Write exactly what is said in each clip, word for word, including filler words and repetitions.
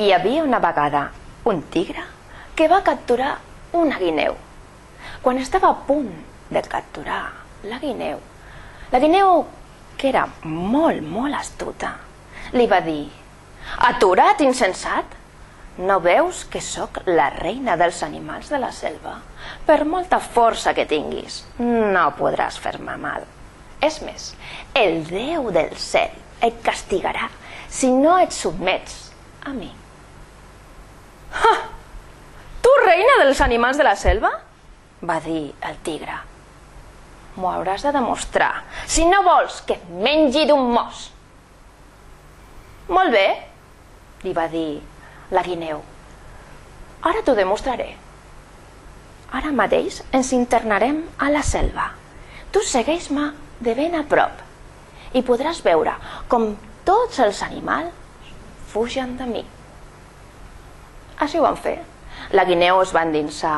Hi havia una vegada un tigre que va capturar una guineu. Quan estava a punt de capturar la guineu, la guineu, que era molt, molt astuta, li va dir: «Atura't, insensat! No veus que sóc la reina dels animals de la selva? Per molta força que tinguis, no podràs fer-me mal. És més, el Déu del cel et castigarà si no et sotmets a mi». «Ha! Tu, reina dels animals de la selva?», va dir el tigre. «M'ho hauràs de demostrar, si no vols que et mengi d'un mos». «Molt bé», li va dir la guineu, «ara t'ho demostraré. Ara mateix ens internarem a la selva. Tu segueix-me de ben a prop i podràs veure com tots els animals fugen de mi». Així ho van fer. La guineu es va endinsar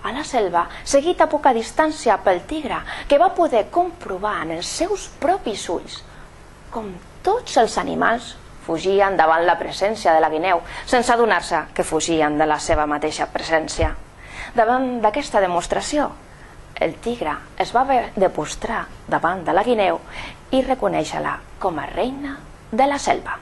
a la selva, seguit a poca distància pel tigre, que va poder comprovar en els seus propis ulls com tots els animals fugien davant la presència de la guineu, sense adonar-se que fugien de la seva mateixa presència. Davant d'aquesta demostració, el tigre es va haver de postrar davant de la guineu i reconèixer-la com a reina de la selva.